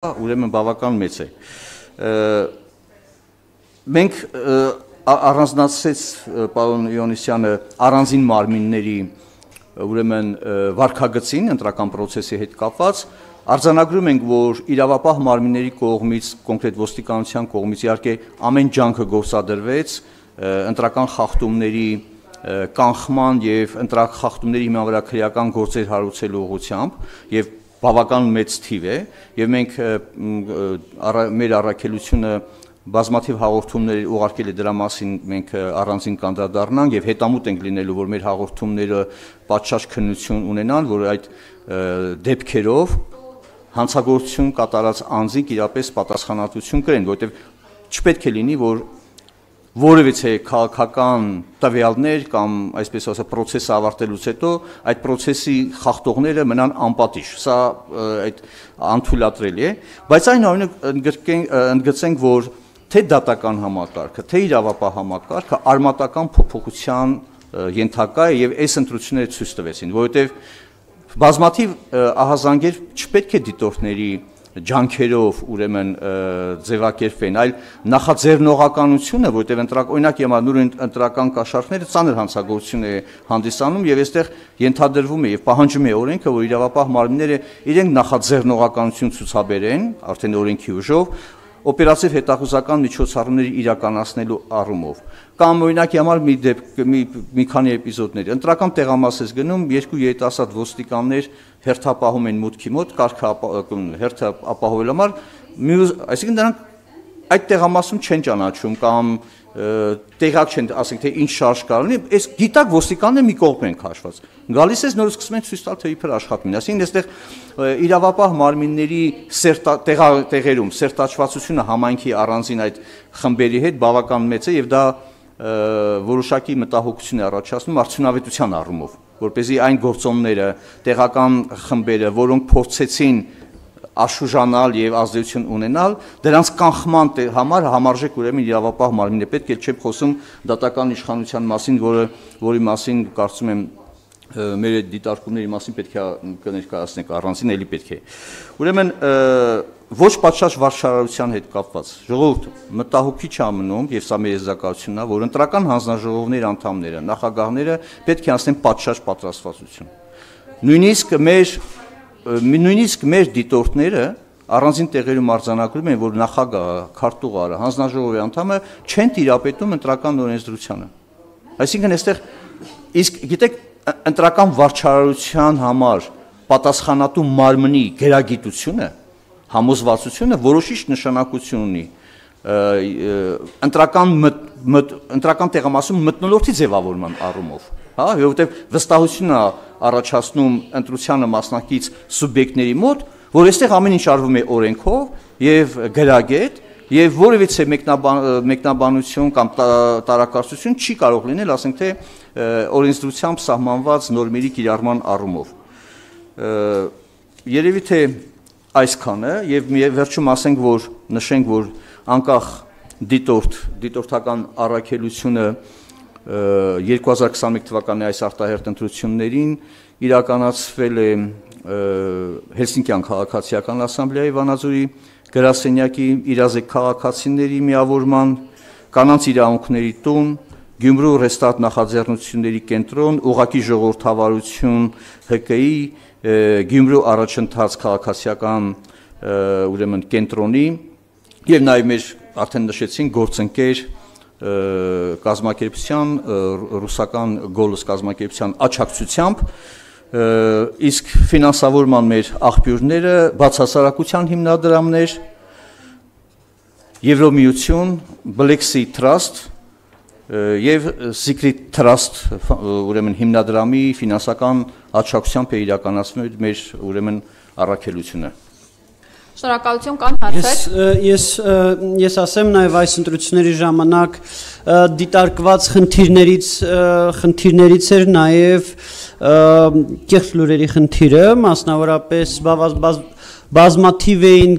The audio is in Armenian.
ուրեմն բավական մեծ է։ Մենք առանձնացրեց պարոն Իոնիսյանը առանձին մարմինների ուրեմն վարքագծին ընտրական process-ի հետ կապված արձանագրում ենք, որ իրավապահ մարմինների կողմից, կոնկրետ ոստիկանության կողմից իհարկե ամեն ջանքը գործադրվեց ընտրական խախտումների կանխման եւ ընտրախախտումների հիման վրա քրեական գործեր հարուցելու ուղղությամբ եւ բավական մեծ թիվ է եւ մենք մեր առաքելությունը բազմաթիվ հաղորդումներ ուղարկել է դրա մասին մենք առանձին կանդրադառնանք եւ հետամուտ ենք լինելու որ մեր հաղորդումները պատշաճ քննություն ունենան որ այդ դեպքերով հանցագործություն կատարած անձինք իրապես պատասխանատվություն կրեն որովհետեւ չպետք է լինի որ որևիցե քաղաքական տվյալներ կամ այսպես ասած process-ը ավարտելուց հետո այդ process-ի խախտողները մնան անպատիժ սա այդ անթույլատրելի է բայց այնուամենայնիվ ընդգծենք որ թե դատական համակարգը թե իրավապահ համակարգը արմատական փոփոխության ենթակա է եւ այս ընտրությունները ցույց տվեցին որովհետեւ բազմաթիվ ահազանգեր չպետք է դիտորդների ջանքերով ուրեմն ձևակերպվեն, այլ նախաձեռնողականությունը, որտեղ օրինակ նույն ընտրական կաշառքները ծանր հանցագործություն է հանդիսանում եւ այստեղ ենթադրվում է եւ պահանջում է օրենքը, որ իրավապահ մարմինները իրենք նախաձեռնողականություն ցուցաբերեն, արդեն օրենքի ուժով, օպերատիվ հետախուզական միջոցառումների իրականացնելու առումով։ Կամ օրինակի համար մի քանի էպիզոդներ։ Ընտրական տեղամաս ես գնում, երկու երիտասարդ ոստիկաններ հերթապահում են մուտքի մոտ, հերթը ապահովելու համար, այսինքն նրանք այդ տեղամասում չեն ճանաչում կամ տեղակ չեն, ասենք թե ինչ շարժ կա լինի, այս գիտակ ոստիկանները մի կողմ են քաշված։ Գալիս ես նորից սկսում են ցույց տալ թե իբր աշխատում են։ Այսինքն այստեղ իրավապահ մարմինների տեղերում սերտաճվածությունը համայնքի առանձին այդ խմբերի հետ բավական մեծ է եւ դա որոշակի մտահոգություն է առաջացնում արդյունավետության առումով, որպեսզի այն գործոնները, տեղական խմբերը, որոնք փորձեցին աշուժանալ եւ ազդեցություն ունենալ, դրանց կանխման համար համարժեք ուրեմն իրավապահ մարմինն է պետք է չեմ խոսում դատական իշխանության մասին, որի մասին կարծում եմ մեր դիտարկումների մասին պետք է կներկայացնենք առանձին էլի պետք է։ Ուրեմն ոչ պատշաճ վարչարարության հետ կապված ժողովուրդ մտահոգիչ է մնում եւ սա մեր եզրակացությունն է, որ ընտրական հանձնաժողովների անդամները, նախագահները պետք է անցնեն պատշաճ պատրաստվածություն։ Նույնիսկ մեր դիտորդները առանձին տեղերում արձանագրում են, որ նախագահը, քարտուղարը, հանձնաժողովի անդամը չեն տիրապետում ընտրական օրենսդրությանը։ Այսինքն այստեղ իսկ գիտեք ընտրական վարչարարության համար պատասխանատու մարմնի գերագիտությունը, համոզվածությունը որոշիչ նշանակություն ունի ընտրական տեղամասում մթնոլորտի ձևավորման առումով, հա, որովհետև վստահություն է առաջացնում ընտրությանը մասնակից սուբյեկտների մոտ, որ այստեղ ամեն ինչ արվում է օրենքով եւ գրագետ եւ որևիցե մեկնաբանություն կամ տարակարծություն չի կարող լինել, ասենք թե օրենսդրությամբ սահմանված նորմերի կիրառման առումով։ Երևի թե այսքանը եւ վերջում ասենք որ նշենք որ անկախ դիտորդական առաքելությունը 2021 թվականի այս արտահերթ ընտրություններին իրականացվել է Հելսինկյան քաղաքացիական ասամբլեայի Վանաձորի գրասենյակի իրազեկ քաղաքացիների միավորման, կանանց իրավունքների տուն, Գյումրու ռեստարտ նախաձեռնությունների կենտրոն, ուղղակի ժողովրդավարություն ՀԿ-ի, Գյումրու առաջընթաց քաղաքացիական ուրեմն կենտրոնի եւ նաեւ մեր արդեն նշեցին գործընկեր կազմակերպության ռուսական գոլոս կազմակերպության աջակցությամբ իսկ ֆինանսավորման մեր աղբյուրները բացասարակության հիմնադրամներ Եվրոմիություն, Black Sea Trust եւ Secret Trust ուրեմն հիմնադրամի ֆինանսական աջակցությամբ է իրականացնում մեր ուրեմն առաքելությունը։ Շնորհակալություն կան հարցեր։ Ես ասեմ նաև այս ընտրությունների ժամանակ դիտարկված խնդիրներից էր նաև կեղծ լուրերի խնդիրը, մասնավորապես բազմաթիվ էին